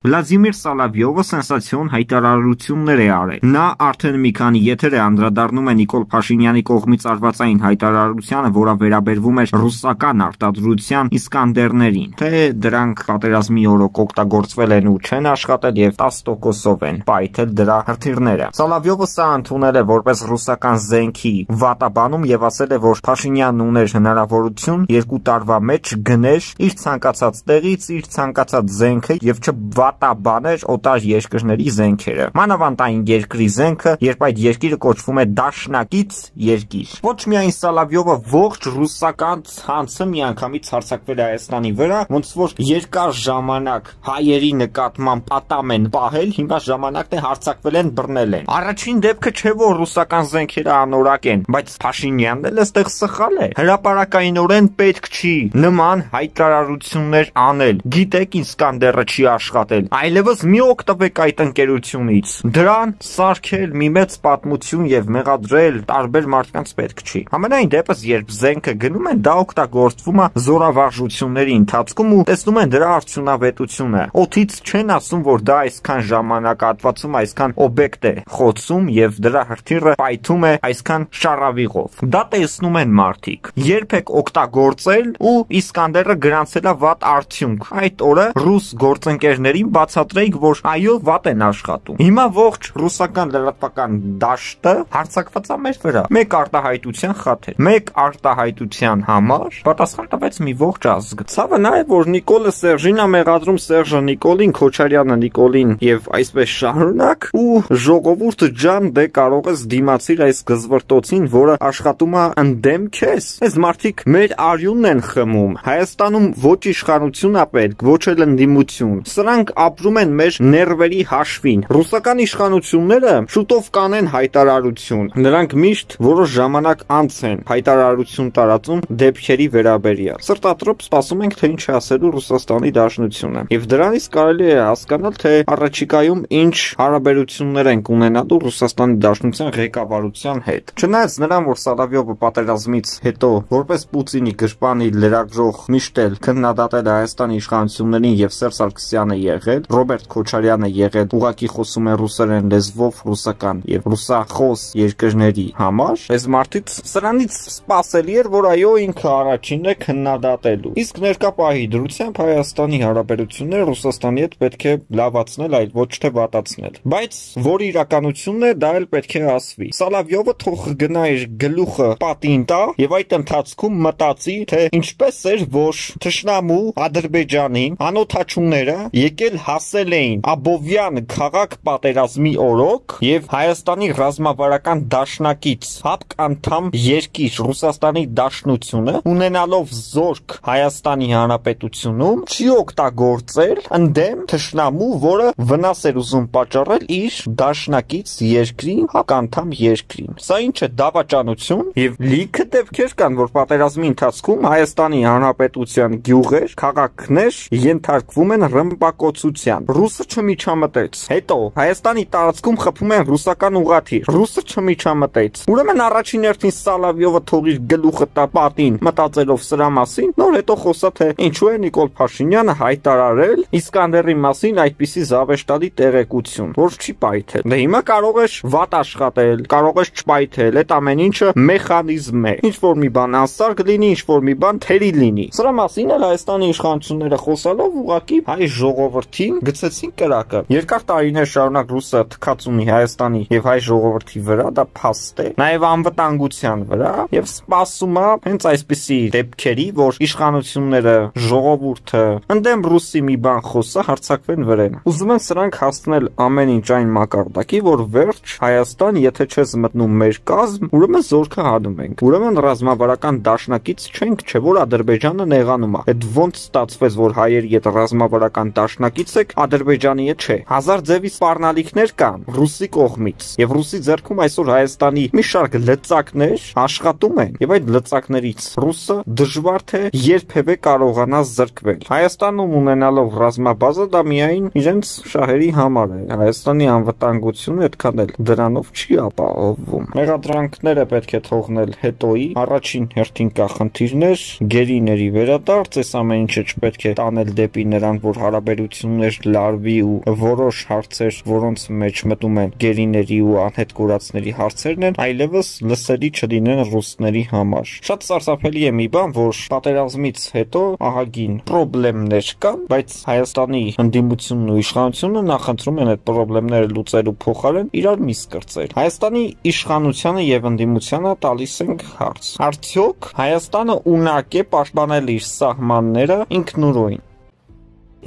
Վլադիմիր Սոլովյովը սենսացիոն հայտարարություններ է արել։ Նա արդեն մի քանի եթեր է անդրադառնում է Նիկոլ Փաշինյանի կողմից արված այն հայտարարությանը, որը վերաբերվում էր ռուսական արտադրության Իսկանդերներին, թե դրանք պատերազմի օրոք օգտագործվել են ու չեն աշխատել եւ 10%-ով են պայթել դրա հրթիռները։ Սոլովյովը սա ընդունել է որպես ռուսական զենքի վատաբանում եւ ասել է, որ Փաշինյանն ուներ հնարավորություն 2 տարվա մեջ գներ իր ցանկացած տեղից իր ցանկացած զենքը եւ չվատաբաներ օտար երկրների զենքերը։ Մանավանդ այն երկրի զենքը, երբ այդ երկիրը կոչվում է դաշնակից երկիր։ Ոչ միայն Սոլովյովը, ողջ ռուսական ցանցը միանգամից հարձակվել է Հայաստանի վրա, ոնց որ երկար ժամանակ հայերի նկատմամբ պատամ են պահել, հիմա ժամանակն է հարձակվել են, բռնել են։ Առաջին դեպքը չէ, որ ռուսական զենքերը անորակ են, բայց Փաշինյանն էլ այստեղ սխալ է։ Հրապարակայինորեն պետք չի նման հայտարարություններ անել։ Գիտեք, Իսկանդերը չի աշխատել։ Այլևս մի օգտվեք այդ ընկերությունից։ Դրան սարքել մի մեծ պատմություն եւ մեղադրել տարբեր մարդկանց պետք չի։ Համենայն դեպս, երբ զենքը գնում են, դա օգտագործվում է զորավարժությունների ընթացքում ու տեսնում են դրա արդյունավետությունը։ Օդից չեն ասում, որ դա այսքան ժամանակահատվածում այսքան օբյեկտ է խոցում եւ դրա հրթիռը պայթում է այսքան շարավիղով։ Դա տեսնում են մարդիկ։ Երբեք օգտագործել ու Իսկանդերը գրանցել է վատ արդյունք։ Այդ օրը ռուս գործընկերներին բացատրեիք, որ այո, վատ են աշխատում։ Հիմա ողջ ռուսական լրատվական դաշտը հարձակված է մեր վրա։ Մեկ արտահայտության խաթեր, մեկ արտահայտության համար պատասխան տվեց մի ողջ ազգ։ Ցավը նա է, որ Նիկոլը Սերժին է մեղադրում Սերժը Նիկոլին, Քոչարյանը Նիկոլին եւ այսպես շարունակ, ու ժողովուրդը ջան, դե կարող ես դիմացիր այս գզվրտոցին, որը աշխատում է ընդդեմ քեզ։ Այս մարդիկ մեր արյունն են խմում։ Հայաստանում ոչ իշխանություն է պետք, ոչ էլ ընդդիմություն։ Սրանք ապրում են մեր ներվերի հաշվին։ Ռուսական իշխանությունները շուտով կանեն հայտարարություն։ Նրանք միշտ որոշ ժամանակ անց են հայտարարություն տարածում դեպքերի վերաբերյալ։ Սրտատրոպ սպասում ենք, թե ինչ է ասելու Ռուսաստանի Դաշնությունը։ Եվ դրանից կարելի է հասկանալ, թե առաջիկայում ինչ հարաբերություններ են ունենալու Ռուսաստանի Դաշնության ղեկավարության հետ։ Չնայած նրան, որ Սոլովյովը պատերազմից հետո որպես Պուտինի գրպանի լրագրող միշտ էլ քննադատել է Հայաստանի իշխանություններին եւ Սերժ Սարգսյանը եղել, Ռոբերտ Քոչարյանը եղել, ուղղակի խոսում է ռուսերեն լեզվով ռուսական եւ ռուսախոս երկրների համար, այս մարդից սրանից սпасելի էր, որ այո, ինքը առաջինն է քննադատելու։ Իսկ ներկա պահի դրությամբ Հայաստանի հարաբերությունները Ռուսաստանի հետ պետք է լավացնել, այլ ոչ թե վատացնել։ Բայց որ իրականությունն է, դա էլ պետք է ասվի։ Սոլովյովը թող գնա իր գլուխը պատին տա եւ այդ ընթացքում մտածի, թե ինչպես էր, որ թշնամու Ադրբեջանին անօթաչուները եկել հասել էին Աբովյան քաղաք պատերազմի օրոք եւ Հայաստանի ռազմավարական դաշնակից հապկ անդամ երկիր Ռուսաստանի Դաշնությունը ունենալով զորք Հայաստանի Հանրապետությունում չի օգտագործել ընդդեմ թշնամու, որը վնաս էր ուզում պատճառել իր դաշնակից երկրին, հապկ անդամ երկրին։ Սա ինչ է, դավաճանություն, եւ լիքը դեպքեր կան, որ պատերազմի ընթացքում Հայաստանի Հանրապետության գյուղեր, քաղաքներ ենթարկվում են ռմբակոծության։ Ռուսը չմիջամտեց։ Հետո Հայաստանի տարածքում խփում են ռուսական ուղղաթիռ։ Ռուսը չմիջամտեց։ Ուրեմն առաջին հերթին Սոլովյովը թող իր գլուխը տա պատին, մտածելով սրա մասին, նոր հետո խոսա, թե ինչու է Նիկոլ Փաշինյանը հայտարարել Իսկանդերի մասին այդպիսի զավեշտալի տեղեկություն, որ չի պայթել։ Դե հիմա կարող ես վատ աշխատել, կարող ես չպայթել, այդ ամեն ինչը մեխանիզմ է։ Ինչ որ մի բան անսարք լինի, ինչ որ մի բան թերի լինի։ Սրա մասին էլ Հայաստանի իշխանությունները խոսալով ուղղակի հայ ժողովրդին գցեցին կրակը։ Երկար տարիներ շարունակ ռուսը թքած ունի Հայաստանի եւ հայ ժողովրդի վրա, դա փաստ է, նաեւ անվտանգության վրա, եւ սպասում է հենց այսպիսի դեպքերի, որ իշխանությունները, ժողովուրդը ընդդեմ ռուսի մի բան խոսա, հարձակվեն վրան։ Ուզում են սրանք հասցնել ամեն ինչ այն մակարդակի, որ վերջ Հայաստան, եթե չես մտնում մեր կազմ, ուրեմն զորքը հանում ենք։ Ուրեմն ռազմավարական դաշնակից չենք, չէ՞ որ Ադրբեջանը նեղանում է։ Այդ ոնց ստացվեց, որ հայերի հետ ռազմավարական դաշնակից եք, Ադրբեջանի հետ չէ։ Հազար ձևի սպառնալիքներ կան ռուսի կողմից, եւ ռուսի ձեռքում այսօր Հայաստանի մի շարք լծակներ աշխատում են, եւ այդ լծակներից ռուսը դժվար թե երբևէ կարողանա զրկվել։ Հայաստանում ունենալով ռազմաբազա, դա միայն իրենց շահերի համար է։ Հայաստանի անվտանգությունը այդքան էլ դրանով չի ապահովվում։ Մեղադրանքները պետք է թողնել հետոյի, առաջին հերթին կա խնդիրներ, գերիների վերադարձ, այս ամեն ինչը չպետք է տանել դեպի նրան, որ հարաբերությունները հանդիպումներ լարվի ու որոշ հարցեր, որոնց մեջ մտում են գերիների ու անհետ կորածների հարցերն են, այլևս լսելի չլինեն ռուսների համար։ Շատ սարսափելի է մի բան, որ պատերազմից հետո ահագին խնդիրներ կան, բայց Հայաստանի ընդդիմությունն ու իշխանությունը նախընտրում են այդ խնդիրները լուծելու փոխարեն իրար միս կրծել։ Հայաստանի իշխանությանը եւ ընդդիմությանը տալիս ենք հարց. արդյոք Հայաստանը ունակ է պաշտպանել իր սահմանները ինքնուրույն։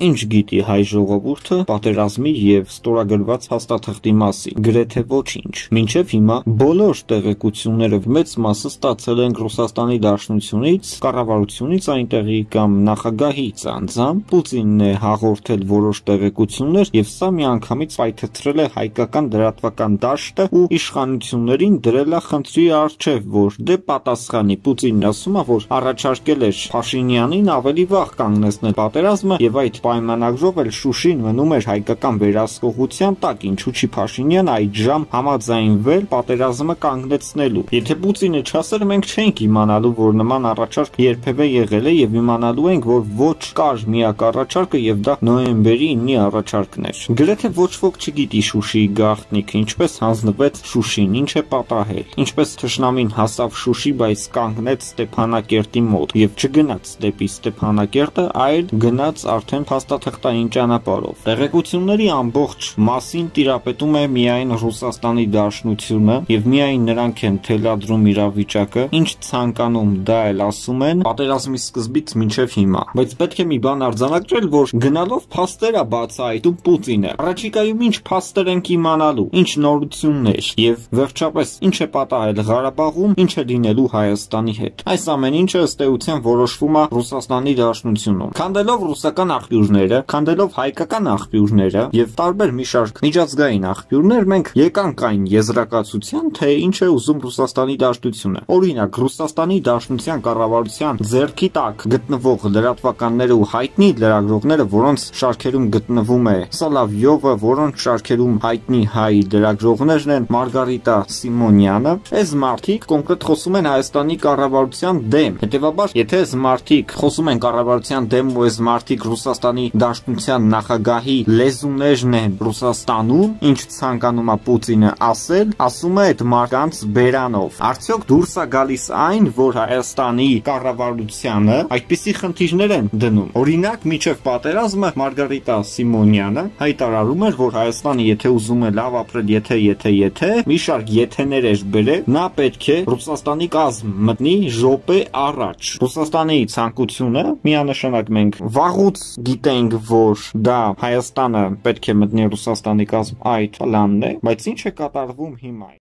Ինչ գիտի հայ ժողովուրդը պատերազմի եւ ստորագրված հաստատղթի մասին։ Գրեթե ոչինչ։ Մինչեւ հիմա բոլոր տեղեկությունները մեծ մասը ստացել են Ռուսաստանի Դաշնությունից, կառավարությունից այնտեղի կամ նախագահից անձամբ։ Պուտինն է հաղորդել որոշ տեղեկություններ եւ սա միանգամից պայթեցրել է հայկական դրատվական դաշտը ու իշխանություններին դրել է խնդրի առջև, որ դե պատասխանի։ Պուտինն ասում է, որ առաջարկել էր Փաշինյանին ավելի վաղ կանգնեցնել պատերազմը եւ այդ պայմանագրով էլ Շուշին մնում էր հայկական վերահսկողության տակ, ինչու չի Փաշինյանը այդժամ համաձայնվել պատերազմը կանգնեցնելու։ Եթե Պուտինը չասեր, մենք չենք իմանալու, որ նման առաջարկ երբևէ եղել է եւ իմանալու ենք, որ ոչ կար միակ առաջարկը եւ դա նոյեմբերի 9-ի առաջարկն էր։ Գրեթե ոչ ոք չգիտի Շուշիի գաղտնիքը, ինչպես հանձնվեց Շուշին, ինչ է պատահել, ինչպես թշնամին հասավ Շուշի, բայց կանգնեց Ստեփանակերտի մոտ եւ չգնաց դեպի Ստեփանակերտը, այլ գնաց արդեն փաստաթղթային ճանապարհով։ Տեղեկությունների ամբողջ մասին տիրապետում է միայն Ռուսաստանի Դաշնությունը եւ միայն նրանք են թելադրում իրավիճակը, ինչ ցանկանում դա էլ ասում են պատերազմի սկզբից մինչեւ հիմա։ Բայց պետք է մի բան արձանագրել, որ գնալով փաստեր է բացահայտում Պուտինը։ Առաջիկայում ինչ փաստեր ենք իմանալու, ինչ նորություններ եւ վերջապես ինչ է պատահել Ղարաբաղում, ինչ է լինելու Հայաստանի հետ։ Այս ամեն ինչը ըստ էության որոշվում է Ռուսաստանի Դաշնությունում։ Քանդելով ռուսական աղբյուրները, քանդելով հայկական աղբյուրները եւ տարբեր մի շարք միջազգային աղբյուրներ, մենք եկանք այն եզրակացության, թե ինչ է ուզում Ռուսաստանի Դաշնությունը։ Օրինակ, Ռուսաստանի Դաշնության կառավարության ձեռքի տակ գտնվող լրատվականները ու հայտնի լրագրողները, որոնց շարքերում գտնվում է Սոլովյովը, որոնց շարքերում հայտնի հայ լրագրողներն են Մարգարիտա Սիմոնյանը, այս մարդիկ կոնկրետ խոսում են Հայաստանի կառավարության դեմ։ Հետևաբար, եթե այս մարդիկ խոսում են կառավարության դեմ ու այս մարդիկ Ռուսաստանի Դաշնության նախագահի լեզուներն են Ռուսաստանում, ինչ ցանկանում է Պուտինը ասել, ասում է այդ մարդկանց բերանով։ Արդյոք դուրս է գալիս այն, որ Հայաստանի կառավարությանը այդպիսի խնդիրներ են դնում։ Օրինակ, միջև պատերազմը Մարգարիտա Սիմոնյանը հայտարարում էր, որ Հայաստանը եթե ուզում է լավ ապրել, եթե մի շարք եթեներ էր բերել, նա պետք է Ռուսաստանի կազմ մտնի րոպե առաջ։ Ռուսաստանի ցանկությունը միանշանակ մենք վաղուց գիտենք, որ դա Հայաստանը պետք է մտնի Ռուսաստանի կազմ, այդ պլանն է, բայց ինչ է կատարվում հիմա։